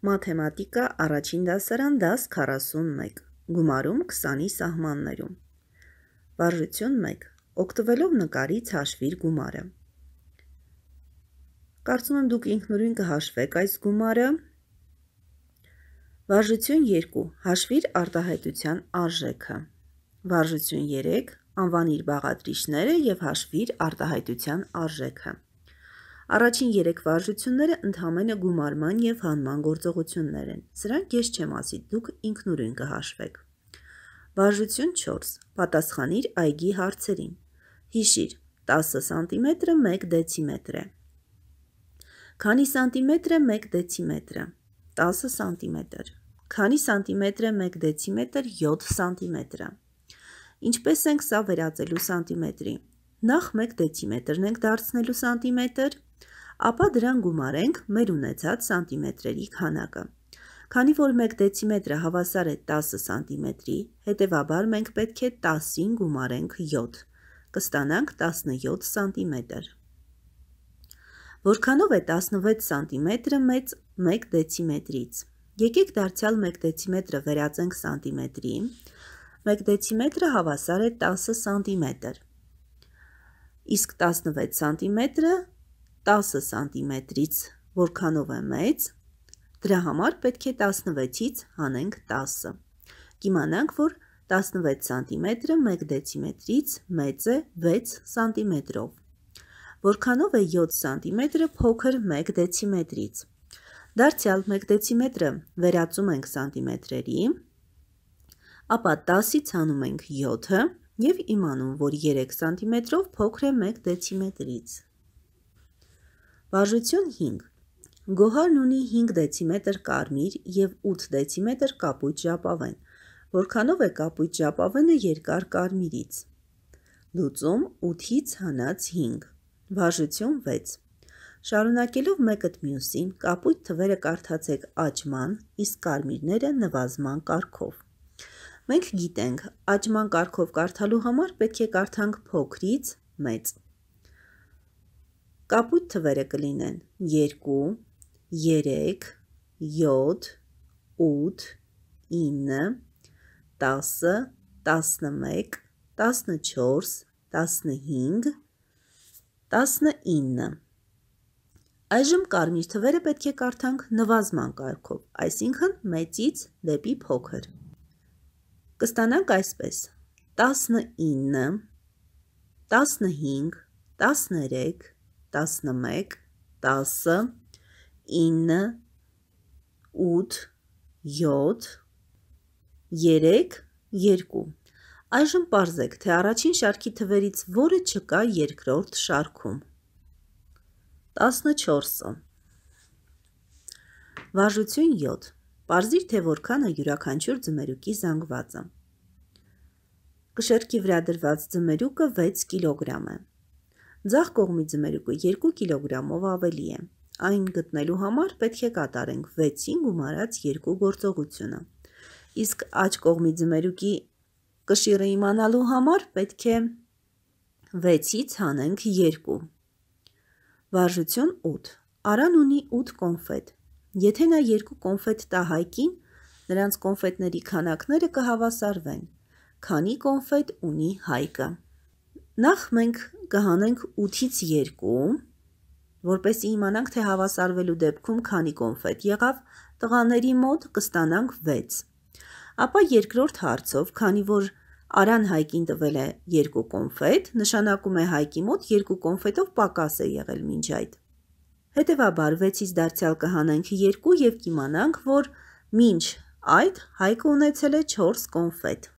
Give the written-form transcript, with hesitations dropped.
Մաթեմատիկա առաջին դասարան դաս 41, գումարում 20-ի սահմաններում։ Վարժություն 1. Օգտվելով նկարից հաշվիր գումարը։ Կարծում եմ դուք ինքնուրույն կհաշվեք այս գումարը։ Վարժություն 2. Հաշվիր արտահայտության արժեքը։ Վարժություն 3. Անվանիր բաղադրիչները և հաշվիր արտահայտության արժեքը։ Առաջին 3 վարժությունները ընդհանրապես գումարման և հանման գործողություններ են։ Սրանք ես չեմ ասի, դուք ինքնուրույն կհաշվեք։ Վարժություն 4. Պատասխանիր այգի հարցերին։ Հիշիր, 10 սանտիմետրը 1 դեցիմետր է։ Քանի սանտիմետր է 1 դեցիմետրը։ 10 սանտիմետր։ Քանի սանտիմետր է 1 դեցիմետր 7 սանտիմետրը։ Ինչպես ենք սա վերածելու սանտիմետրի։ Նախ 1 դեցիմետրն ենք դարձնելու սանտիմետր, ապա դրան գումարենք մեր ունեցած սանտիմետրերի քանակը։ Քանի որ 1 դեցիմետրը հավասար է 10 սանտիմետրի, հետևաբար մենք պետք է 10-ին գումարենք 7, կստանանք 17 սանտիմետր։ Որքանով է 16 սանտիմետրը մեծ 1 դեցիմետրից։ Եկեք դարձյալ 1 դեցիմետրը վերածենք սանտիմետրի, 1 դեցիմետրը հավասար է 10 սանտիմետր, իսկ 16 սանտիմետրը 10 սանտիմետրից որքանով է մեծ, դրա համար պետք է 16-ից հանենք 10։ Կիմանանք, որ 16 սանտիմետրը 1 դեցիմետրից մեծ է 6 սանտիմետրով։ Որքանով է 7 սանտիմետրը փոքր 1 դեցիմետրից։ Դարձյալ 1 դեցիմետրը վերածում ենք սանտիմետրերի, ապա 10-ից հանում ենք 7-ը և իմանում, որ 3 սանտիմետրով փոքր է 1 դեցիմետրից։ Վարժություն 5. Գոհարն ունի 5 դեցիմետր կարմիր և 8 դեցիմետր կապույտ ժապավեն։ Որքանով է կապույտ ժապավենը երկար կարմիրից։ Լուծում 8-ից հանած 5։ Վարժություն 6. Շարունակելով մեկըդ մյուսին, կապույտ թվերը կարդացեք աճման, իսկ կարմիրները նվազման կարգով։ Մենք գիտենք, աճման կարգով կարդալու համար պետք է կարդանք փոքրից մեծ։ Կապույտ թվերը կլինեն 2, 3, 7, 8, 9, 10, 11, 14, 15, 19։ Այժմ կարմիր թվերը պետք է կարդանք նվազման կարգով, այսինքն մեծից դեպի փոքր։ Կստանանք այսպես. 19, 15, 13, 11, 10, 9, 8, 7, 3, 2։ Այժմ պարզեք, թե առաջին շարքի թվերից որը չկա երկրորդ շարքում։ 14-ը։ Վարժություն 7. Պարզիր, թե որքան է յուրաքանչյուր ձմերուկի զանգվածը։ Կշեռքի վրա դրված ձմերուկը 6 կիլոգրամ է։ Ձախ կողմի ձմերուկը 2 կիլոգրամով ավելի է։ Այն գտնելու համար պետք է կատարենք 6-ին գումարած 2 գործողությունը։ Իսկ աջ կողմի ձմերուկի կշիռը իմանալու համար պետք է 6-ից հանենք 2։ Վարժություն 8. Արան ունի 8 կոնֆետ։ Եթե նա 2 կոնֆետ տա Հայկին, նրանց կոնֆետների քանակները կհավասարվեն, քանի կոնֆետ ունի Հայկը։ Նախ մենք կհանենք 8-ից 2, որպեսզի իմանանք, թե հավասարվելու դեպքում քանի կոնֆետ եղավ, տղաների մոտ կստանանք 6։ Ապա երկրորդ հարցով, քանի որ Արան Հայկին տվել է 2 կոնֆետ, նշանակում է Հայկի մոտ 2 կոնֆետով պակաս է եղել մինչ այդ։ Հետևաբար 6-ից դարձյալ կհանենք 2 և կիմանանք, որ մինչ այդ Հայկը ունեցել է 4 կոնֆետ։